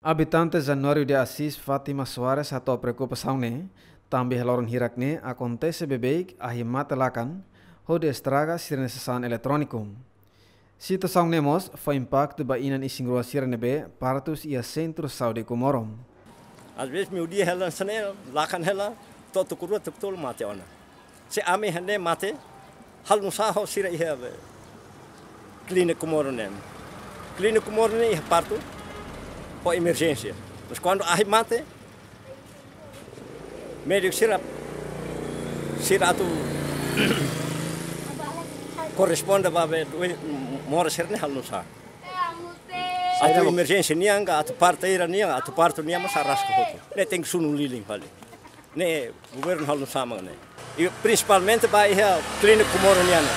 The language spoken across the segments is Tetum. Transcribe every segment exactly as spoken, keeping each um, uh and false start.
Abitante Januário de Assis Fátima Soares hato'o preokupasaun ne'e, tanba iha loron hirak ne'e akontese beibeik ahi mate lakan, hodi estraga sira-nia sasán eletróniku. Situasaun ne'e mós fó impaktu ba inan isin-rua sira ne'ebé partus iha Sentru Saúde Comoro. Às vezes, meiudia hela hanesan ne'e, lakan hela, to'o tuku rua, tuku tolu mate ona. Se ami hane mate, halo nusá ho sira iha, eh, Clínica Comoro ne'e. Clínica Comoro ne'e iha partu, ho emerjénsia. Mas kuandu ahi mate, médiku sira, sira atu korresponde ba be, due, moras sira-ne'e halo nusá. Atu emerjénsia nian ka, atu parte ida nian, atu partu nian mós araska hotu. Ne'e tenke sunu lilin fali. Ne'e governu halo nusá mak ne'e. I prinsipalmente ba iha Clínica Comoro nian ne'e.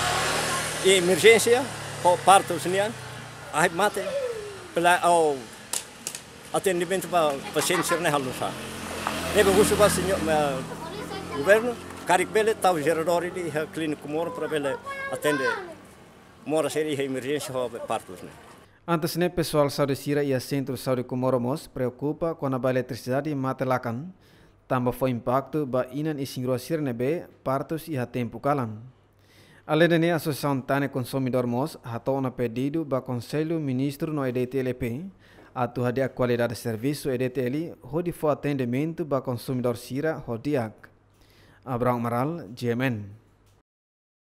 I emerjénsia, ho partus nian, ahi mate, pela, o atendimentu ba pasiente sira-ne'e halo nusá. Ne'ebé husu ba señór, eh, governu, karik bele tau jeradór ida iha Clínica Comoro para bele atende moras sira iha emerjénsia ho partus ne'e. Antes ne'e, pesoál saúde sira iha Sentru Saúde Comoro mós preokupa kona-ba eletrisidade mate lakan, tanba fó impaktu ba inan isin-rua sira ne'ebé partus iha tempu kalan. Aleinde ne'e, Asosiasaun Tan ne'e Konsumidór mós hato'o ona pedidu ba Konsellu Ministru no E D T L atu hadi'a kualidade servisu E D T L hodi fó atendimentu ba konsumidór sira ho di'ak. Abrão Amaral, G M N.